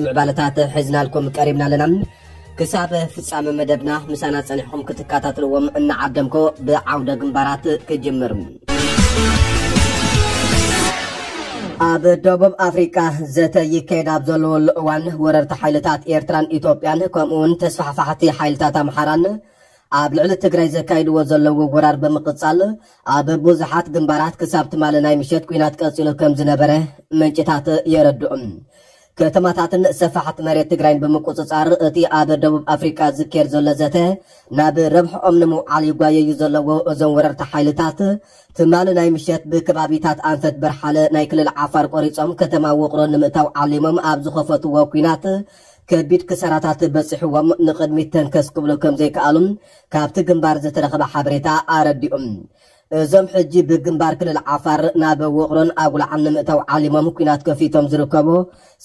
ምዕባለታት ሒዝናልኩም ቀሪብና ኣለና። ክሳብ ፍጻመ መደብና ምሳና ጸኒሕኩም ክትከታተልዎም እናዓደምኮ፣ ብዓውደ ግንባራት ክጅምር። ኣብ ደቡብ ኣፍሪቃ ዘተ ይካየድ ኣብ ዘለወሉ እዋን፣ ወረርቲ ሓይልታት ኤርትራን ኢትዮጵያን፣ ከምኡ እውን ተስፋሕፋሕቲ ሓይልታት ኣምሓራን ኣብ ልዕሊ ትግራይ ዘካይድዎ ዘለዉ ወራር ብምቕጻል፣ ኣብ ብዙሓት ግንባራት ክሳብ ትማሊ ናይ ምሸት ኲናት ቀጺሉ ከም ዝነበረ ምንጭታት የረድኡ። ከተማታትን ሰፋሕቲ መሬት ትግራይን ብምቁጽጻር፣ እቲ ኣብ ደቡብ ኣፍሪቃ ዝካየድ ዘሎ ዘተ ናብ ረብሕኦም ንምውዓል ይጓየዩ ዘለዉ እዞም ወረርቲ ሓይልታት፣ ትማሊ ናይ ምሸት ብከባቢታት ኣንፈት በርሓለ ናይ ክልል ዓፋር ቆሪጾም ከተማ ውቕሮ ንምእታው ዓሊሞም ኣብ ዝኸፈትዎ ኲናት፣ ከቢድ ክሳራታት በጺሕዎም ንቕድሚት ተንከስ ክብሉ ከም ዘይከኣሉን ካብቲ ግንባር ዝተረኸበ ሓበሬታ ኣረዲኡ። እዞም ሕጂ ብግንባር ክልል ዓፋር ናብ ውቕሮን ኣጉላዓን ንምእታው ዓሊሞም ኲናት ከፊቶም ዝርከቡ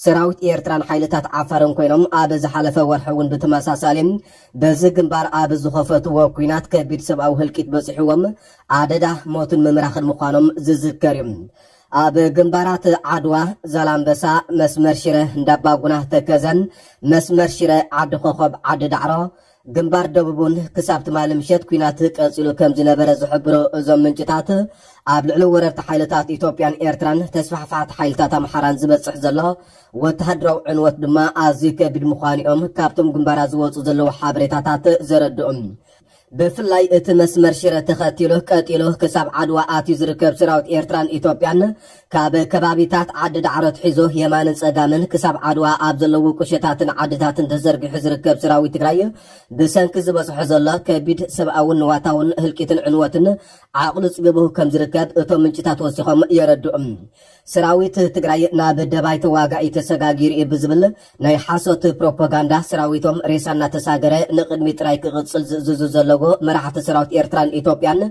ሰራዊት ኤርትራን ሓይልታት ዓፋርን ኮይኖም፣ ኣብ ዝሓለፈ ወርሒ እውን ብተመሳሳሊ በዚ ግንባር ኣብ ዝኸፈትዎ ኲናት ከቢድ ሰብኣዊ ህልቂት በጺሕዎም ኣደዳ ሞትን ምምራኽን ምዃኖም ዝዝከር እዩ። ኣብ ግንባራት ዓድዋ፣ ዛላምበሳ፣ መስመር ሽረ እንዳባጉና ተከዘን፣ መስመር ሽረ ዓዲ ኮኸብ ዓዲ ዳዕሮ፣ ግንባር ደቡብ እውን ክሳብ ትማሊ ምሸት ኲናት ቀጺሉ ከም ዝነበረ ዝሕብሩ እዞም ምንጭታት፣ ኣብ ልዕሊ ወረርቲ ሓይልታት ኢትዮጵያን ኤርትራን ተስፋሕፋሕቲ ሓይልታት ኣምሓራን ዝበጽሕ ዘሎ ወተሃደራዊ ዕንወት ድማ ኣዝዩ ከቢድ ምዃኑ እዮም ካብቶም ግንባራት ዝወጹ ዘለዉ ሓበሬታታት ዘረድኡ። ብፍላይ እቲ መስመር ሽረ ተኸቲሉ ቀጢሉ ክሳብ ዓድዋ ኣትዩ ዝርከብ ሰራዊት ኤርትራን ኢትዮጵያን፣ ካብ ከባቢታት ዓዲ ዳዕሮ ኣትሒዙ የማንን ጸጋምን ክሳብ ዓድዋ ኣብ ዘለዉ ቁሸታትን ዓድታትን ተዘርጊሑ ዝርከብ ሰራዊት ትግራይ፣ ብሰንኪ ዝበጽሖ ዘሎ ከቢድ ሰብኣውን ንዋታውን ህልቂትን ዕንወትን ዓቕሉ ጽቢቡ ከም ዝርከብ እቶም ምንጭታት ወሲኾም የረድኡ። ሰራዊት ትግራይ ናብ ደባይ ተዋጋኢ ተሰጋጊሩ እዩ ብዝብል ናይ ሓሶት ፕሮፓጋንዳ፣ ሰራዊቶም ሬሳ እናተሳገረ ንቕድሚት ጥራይ ክቕጽል ዝእዝዙ ዘለዉ መራሕቲ ሰራዊት ኤርትራን ኢትዮጵያን፣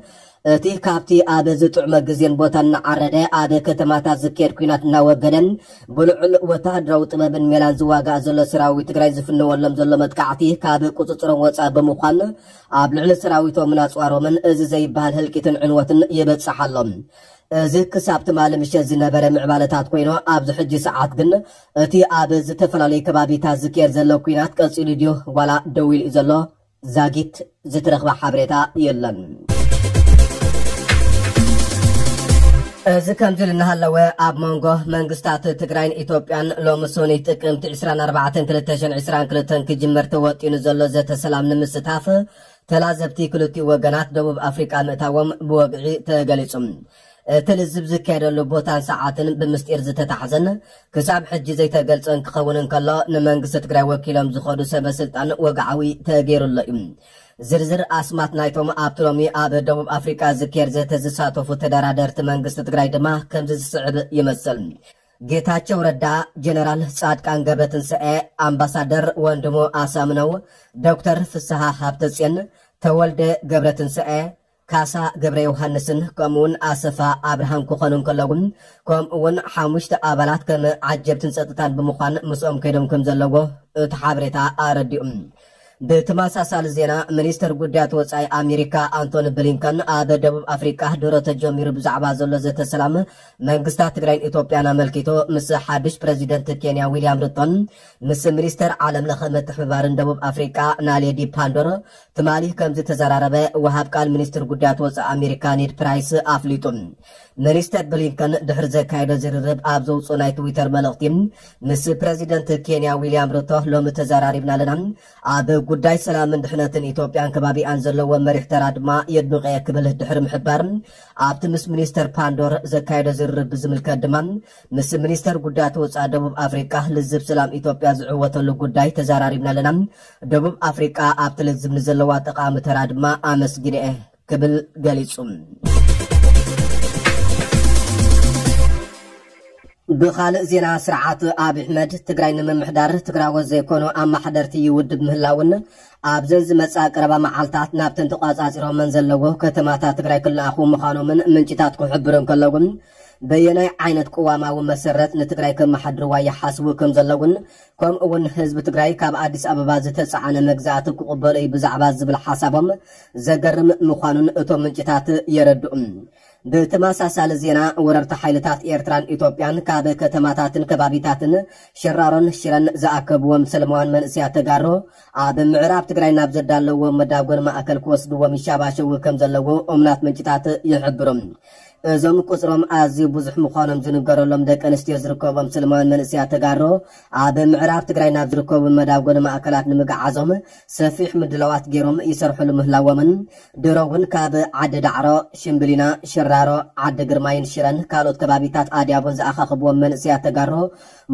እቲ ካብቲ ኣብ ዝጥዕመ ግዜን ቦታን እናዓረደ ኣብ ከተማታት ዝካየድ ኲናት እናወገደ፣ ብልዑል ወተሃደራዊ ጥበብን ሜላን ዝዋጋእ ዘሎ ሰራዊት ትግራይ ዝፍነወሎም ዘሎ መጥቃዕቲ ካብ ቁጽጽሮም ወጻኢ ብምዃን፣ ኣብ ልዕሊ ሰራዊቶምን ኣጽዋሮምን እዚ ዘይበሃል ህልቂትን ዕንወትን ይበጽሕ ኣሎ። እዚ ክሳብ ትማሊ ምሸት ዝነበረ ምዕባለታት ኮይኑ፣ ኣብዚ ሕጂ ሰዓት ግን እቲ ኣብ ዝተፈላለዩ ከባቢታት ዝካየድ ዘሎ ኲናት ቀጺሉ ድዩ ዋላ ደው ኢሉ እዩ ዘሎ? ዛጊት ዝተረኽበ ሓበሬታ የለን። እዚ ከምዚ ኢሉ እናሃለወ፣ ኣብ መንጎ መንግስታት ትግራይን ኢትዮጵያን ሎሚ ሰኑይ ጥቅምቲ ዕስራን ኣርባዕተን ክልተ ሽሕን ዕስራን ክልተን ክጅመር ተወጢኑ ዘሎ ዘተ ሰላም ንምስታፍ ተላዘብቲ ክልቲኡ ወገናት ደቡብ ኣፍሪቃ ምእታዎም ብወግዒ ተገሊጹ። እቲ ልዝብ ዝካየደሉ ቦታን ሰዓትን ብምስጢር ዝተታሕዘን ክሳብ ሕጂ ዘይተገልጸን ክኸውን እንከሎ፣ ንመንግስቲ ትግራይ ወኪሎም ዝኸዱ ሰበ ስልጣን ወግዓዊ ተገይሩሎ እዩ። ዝርዝር ኣስማት ናይቶም ኣብቲ ሎሚ ኣብ ደቡብ ኣፍሪቃ ዝካየድ ዘተ ዝሳተፉ ተደራደርቲ መንግስቲ ትግራይ ድማ ከምዚ ዝስዕብ ይመስል። ጌታቸው ረዳ፣ ጀነራል ጻድቃን ገብረትንሳኤ፣ ኣምባሳደር ወንድሙ ኣሳምነው፣ ዶክተር ፍስሃ ሃብተጽዮን፣ ተወልደ ገብረትንሳኤ፣ ካሳ ገብረ ዮሃንስን ከምኡውን ኣሰፋ ኣብርሃን ክኾኑ እንከለዉ፣ ከምኡውን ሓሙሽተ ኣባላት ከም ዓጀብትን ጸጥታን ብምዃን ምስኦም ከይዶም ከም ዘለዎ እቲ ሓበሬታ ኣረዲኡ። ብተመሳሳሊ ዜና፣ ሚኒስተር ጉዳያት ወጻኢ ኣሜሪካ ኣንቶኒ ብሊንከን ኣብ ደቡብ ኣፍሪቃ ድሮ ተጀሚሩ ብዛዕባ ዘሎ ዘተ ሰላም መንግስታት ትግራይን ኢትዮጵያን ኣመልኪቱ ምስ ሓድሽ ፕረዚደንት ኬንያ ዊልያም ሩቶን ምስ ሚኒስተር ዓለም ለኸ ምትሕብባርን ደቡብ ኣፍሪቃ ናሌዲ ፓንዶር ትማሊ ከም ዝተዘራረበ ወሃብ ቃል ሚኒስትር ጉዳያት ወጻኢ ኣሜሪካ ኔድ ፕራይስ ኣፍሊጡ። ሚኒስተር ብሊንከን ድሕሪ ዘካየዶ ዝርርብ ኣብ ዘውፅኦ ናይ ትዊተር መልእኽቲ፣ ምስ ፕረዚደንት ኬንያ ዊልያም ሩቶ ሎሚ ተዘራሪብና ኣለና። ኣብ ጉዳይ ሰላምን ድሕነትን ኢትዮጵያን ከባቢኣን ዘለዎ መሪሕ ተራ ድማ የድንቆ እየ ክብል ድሕሪ ምሕባር፣ ኣብቲ ምስ ሚኒስተር ፓንዶር ዘካየዶ ዝርርብ ብዝምልከት ድማ፣ ምስ ሚኒስተር ጉዳያት ወጻኢ ደቡብ ኣፍሪቃ ልዝብ ሰላም ኢትዮጵያ ዝዕወተሉ ጉዳይ ተዘራሪብና ኣለና። ደቡብ ኣፍሪቃ ኣብቲ ልዝብ ንዘለዋ ጠቓሚ ተራ ድማ ኣመስጊነ እየ ክብል ገሊጹ። ብኻልእ ዜና፣ ስርዓት ኣብይ ኣሕመድ ትግራይ ንምምሕዳር ትግራዎት ዘይኮኑ ኣማሓደርቲ ይውድብ ምህላውን ኣብዘን ዝመጻ ቀረባ መዓልታት ናብተን ተቋጻጺሮመን ዘለዎ ከተማታት ትግራይ ክለኣኹ ምዃኖምን ምንጭታት ክሕብሩ እንከለውን፣ በየናይ ዓይነት ቅዋማዊ መሰረት ንትግራይ ከመሓድርዋ ይሓስቡ ከም ዘለውን፣ ከምኡ እውን ህዝቢ ትግራይ ካብ ኣዲስ ኣበባ ዝተጻዕነ መግዛእቲ ክቕበሎ እዩ ብዛዕባ ዝብል ሓሳቦም ዘገርም ምዃኑን እቶም ምንጭታት የረድኡ። ብተመሳሳሊ ዜና፣ ወረርቲ ሓይልታት ኤርትራን ኢትዮጵያን ካብ ከተማታትን ከባቢታትን ሽራሮን ሽረን ዝኣከብዎም ሰለማውያን መንእሰያት ተጋሩ ኣብ ምዕራብ ትግራይ ናብ ዘዳለዎም መዳጎን ማእከል ክወስድዎም ይሻባሸዉ ከም ዘለዉ እሙናት ምንጭታት ይሕብሩ። እዞም ቁጽሮም ኣዝዩ ብዙሕ ምዃኖም ዝንገረሎም ደቂ ኣንስትዮ ዝርከቦም ሰለማውያን መንእሰያት ተጋሩ ኣብ ምዕራብ ትግራይ ናብ ዝርከቡ መዳጎኒ ማእከላት ንምግዓዞም ሰፊሕ ምድላዋት ገይሮም ይሰርሕሉ ምህላዎምን ድሮ እውን ካብ ዓዲ ዳዕሮ፣ ሽምብሊና፣ ሽራሮ፣ ዓዲ ግርማይን ሽረን ካልኦት ከባቢታት ኣድያቦን ዝኣኻኽብዎም መንእሰያት ተጋሩ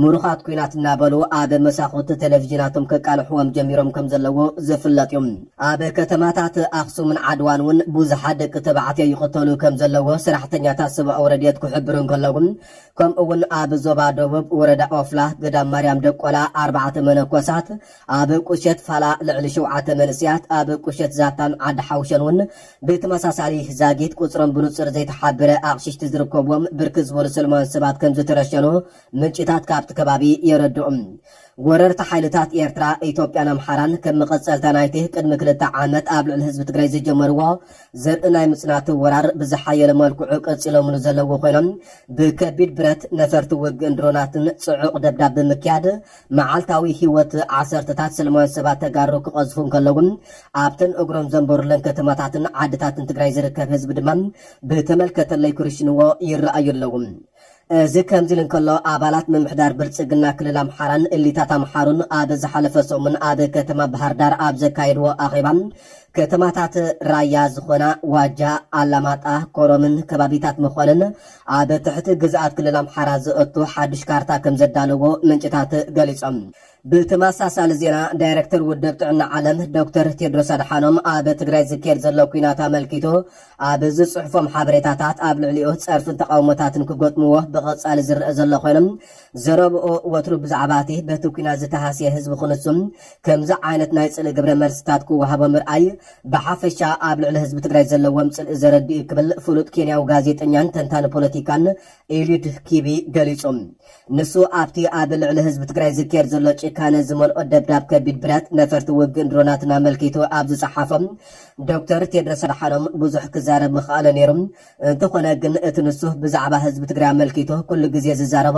ምሩኻት ኲናት እናበሉ ኣብ መሳኹቲ ቴሌቪዥናቶም ከቃልሕዎም ጀሚሮም ከም ዘለዉ ዝፍለጥ እዩ። ኣብ ከተማታት ኣኽሱምን ዓድዋን እውን ብዙሓት ደቂ ተባዕትዮ ይቕተሉ ከም ዘለዉ ሰራሕተኛታት ሰብኣዊ ረድኤት ክሕብሩ እንከለዉ፣ ከምኡ እውን ኣብ ዞባ ደቡብ ወረዳ ኦፍላ ገዳም ማርያም ደቆላ ኣርባዕተ መነኮሳት፣ ኣብ ቁሸት ፋላ ልዕሊ ሸውዓተ መንእሰያት፣ ኣብ ቁሸት ዛታን ዓዲ ሓውሸን እውን ብተመሳሳሊ ዛጊት ቁጽሮም ብንጹር ዘይተሓበረ ኣቕሽሽቲ ዝርከብዎም ብርክት ዝበሉ ሰለማውያን ሰባት ከም ዝተረሸኑ ምንጭታት ካብቲ ከባቢ የረድኡ። ወረርቲ ሓይልታት ኤርትራ፣ ኢትዮጵያን ኣምሓራን ከም መቐጸልታ ናይቲ ቅድሚ ክልተ ዓመት ኣብ ልዕሊ ህዝቢ ትግራይ ዝጀመርዎ ዘርኢ ናይ ምጽናት ወራር ብዝሓየለ መልክዑ ቀጺሎምሉ ዘለዉ ኮይኖም፣ ብከቢድ ብረት፣ ነፈርቲ ውግእን ድሮናትን ጽዑቕ ደብዳብ ብምክያድ መዓልታዊ ህይወት ዓሰርተታት ሰለማውያን ሰባት ተጋሩ ክቐዝፉ እንከለዉ፣ ኣብተን እግሮም ዘንበሩለን ከተማታትን ዓድታትን ትግራይ ዝርከብ ህዝቢ ድማ ብተመልከተለይ ክርሽንዎ ይረኣዩ ኣለዉ። እዚ ከምዚ ኢሉ እንከሎ፣ ኣባላት ምምሕዳር ብልጽግና ክልል ኣምሓራን እሊታት ኣምሓሩን ኣብ ዝሓለፈ ሰሙን ኣብ ከተማ ባህር ዳር ኣብ ዘካየድዎ ኣኼባ፣ ከተማታት ራያ ዝኾና ዋጃ፣ ኣላማጣ፣ ኮረምን ከባቢታት መኾንን ኣብ ትሕቲ ግዝኣት ክልል ኣምሓራ ዘእቱ ሓድሽ ካርታ ከም ዘዳለዎ ምንጭታት ገሊጾም። ብተመሳሳሊ ዜና፣ ዳይሬክተር ውድብ ጥዕና ዓለም ዶክተር ቴድሮስ ኣድሓኖም ኣብ ትግራይ ዝካየድ ዘሎ ኲናት ኣመልኪቱ ኣብ ዝጽሕፎም ሓበሬታታት፣ ኣብ ልዕሊኡ ጸርፍን ተቓውሞታትን ክገጥምዎ ብቐጻሊ ዝረአ ዘሎ ኮይኖም፣ ዘረብኡ ወትሩ ብዛዕባ እቲ በቲ ኲናት ዝተሃስየ ህዝቢ ክንሱን ከምዚ ዓይነት ናይ ጽልኢ ግብረ መልስታት ክወሃቦ ምርኣይ ብሓፈሻ ኣብ ልዕሊ ህዝቢ ትግራይ ዘለዎም ጽልኢ ዘረድእ እዩ ክብል ፍሉጥ ኬንያዊ ጋዜጠኛን ተንታኒ ፖለቲካን ኤልዩድ ኪቢ ገሊጹ። ንሱ ኣብቲ ኣብ ልዕሊ ህዝቢ ትግራይ ዝካየድ ዘሎ ጭካነ ዝመልኦ ደብዳብ ከቢድ ብረት፣ ነፈርቲ ውግእን ድሮናትን ኣመልኪቱ ኣብ ዝጸሓፎ፣ ዶክተር ቴድሮስ ኣድሓኖም ብዙሕ ክዛረብ ምኽኣለ ነይሩ። እንተኾነ ግን እቲ ንሱ ብዛዕባ ህዝቢ ትግራይ ኣመልኪቱ ኩሉ ግዜ ዝዛረቦ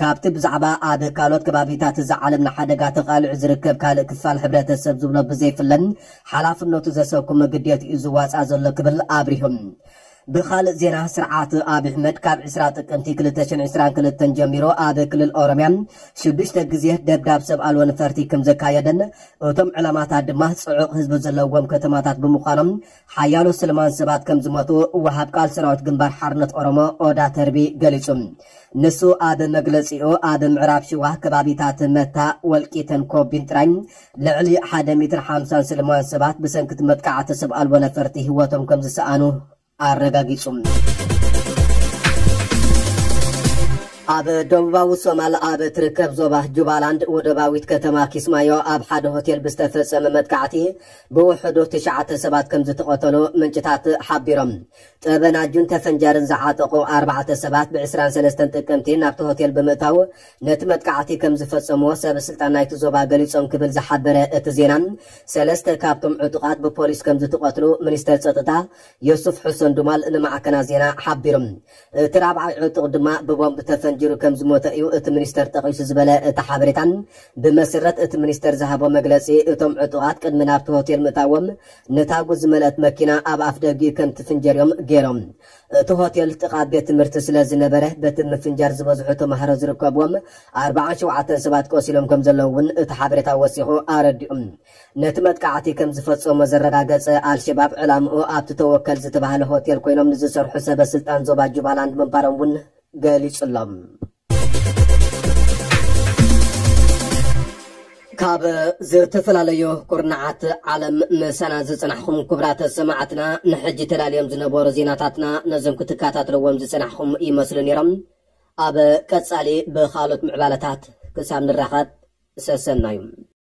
ካብቲ ብዛዕባ ኣብ ካልኦት ከባቢታት እዛ ዓለም ንሓደጋ ተቓልዑ ዝርከብ ካልእ ክፋል ሕብረተሰብ ዝብሎ ብዘይፍለን ሓላፍነቱ ዘሰኩም ግዴትኡ ዝዋጻእ ዘሎ ክብል ኣብሪሁ። ብኻልእ ዜና፣ ስርዓት ኣብይ ኣሕመድ ካብ ዕስራ ጥቅምቲ ክልተ ሽሕን ዕስራን ክልተን ጀሚሩ ኣብ ክልል ኦሮምያ ሽዱሽተ ግዜ ደብዳብ ሰብ ኣልቦ ነፈርቲ ከም ዘካየደን እቶም ዕላማታት ድማ ጽዑቕ ህዝቢ ዘለዎም ከተማታት ብምዃኖም ሓያሎ ሰለማውያን ሰባት ከም ዝሞቱ ወሃብ ቃል ሰራዊት ግንባር ሓርነት ኦሮሞ ኦዳ ተርቢ ገሊጹ። ንሱ ኣብ መግለጺኡ፣ ኣብ ምዕራብ ሽዋ ከባቢታት መታ፣ ወልቂተን ኮቢን ጥራይ ልዕሊ ሓደ ሚእትን ሓምሳን ሰለማውያን ሰባት ብሰንኪ እቲ መጥቃዕቲ ሰብ ኣልቦ ነፈርቲ ህይወቶም ከም ዝሰኣኑ ኣረጋጊጹ። ኣብ ደቡባዊ ሶማል ኣብ ትርከብ ዞባ ጁባላንድ ወደባዊት ከተማ ኪስማዮ ኣብ ሓደ ሆቴል ብዝተፈጸመ መጥቃዕቲ ብውሕዱ ትሽዓተ ሰባት ከም ዝተቐተሉ ምንጭታት ሓቢሮም። ጠበናጁን ተፈንጃርን ዝዓጠቑ ኣርባዕተ ሰባት ብ ዕስራን ሰለስተን ጥቅምቲ ናብቲ ሆቴል ብምእታው ነቲ መጥቃዕቲ ከም ዝፈጸምዎ ሰብ ስልጣን ናይቲ ዞባ ገሊጾም ክብል ዝሓበረ እቲ ዜና፣ ሰለስተ ካብቶም ዕጡቓት ብፖሊስ ከም ዝተቐትሉ ሚኒስተር ጸጥታ ዮሱፍ ሑሰን ዱማል ንማዕከናት ዜና ሓቢሩ። እቲ ራብዓይ ዕጡቕ ድማ ብቦምብ ተፈንጂሩ ከም ዝሞተ እዩ እቲ ሚኒስተር ጠቒሱ ዝበለ እቲ ሓበሬታ። ብመሰረት እቲ ሚኒስተር ዝሃቦ መግለጺ፣ እቶም ዕጡቓት ቅድሚ ናብቲ ሆቴል ምእታዎም ነታጉ ዝመልአት መኪና ኣብ ኣፍ ደጊኡ ከም ትፍንጀር እዮም ገይሮም። እቲ ሆቴል ጥቓ ቤት ትምህርቲ ስለ ዝነበረ፣ በቲ ምፍንጃር ዝበዝሑ ተማሃሮ ዝርከብዎም ኣርባዓን ሸውዓተን ሰባት ቆሲሎም ከም ዘለዉ እውን እቲ ሓበሬታ ወሲኹ ኣረዲኡ። ነቲ መጥቃዕቲ ከም ዝፈጸሞ ዘረጋገጸ ኣልሸባብ፣ ዕላምኡ ኣብቲ ተወከል ዝተባህለ ሆቴል ኮይኖም ንዝሰርሑ ሰበ ስልጣን ዞባ ጁባላንድ ምንባሮም እውን ገሊጹ ኣሎ። ካብ ዝተፈላለዩ ኩርናዓት ዓለም ምሳና ዝጽናሕኩም ክቡራት ሰማዕትና፣ ንሕጂ ተዳልዮም ዝነበሩ ዜናታትና ነዞም ክትከታተልዎም ዝጽናሕኩም ይመስሉ ነይሮም። ኣብ ቀጻሊ ብኻልኦት ምዕባለታት ክሳብ ንራኸብ፣ ሰሰናዩ።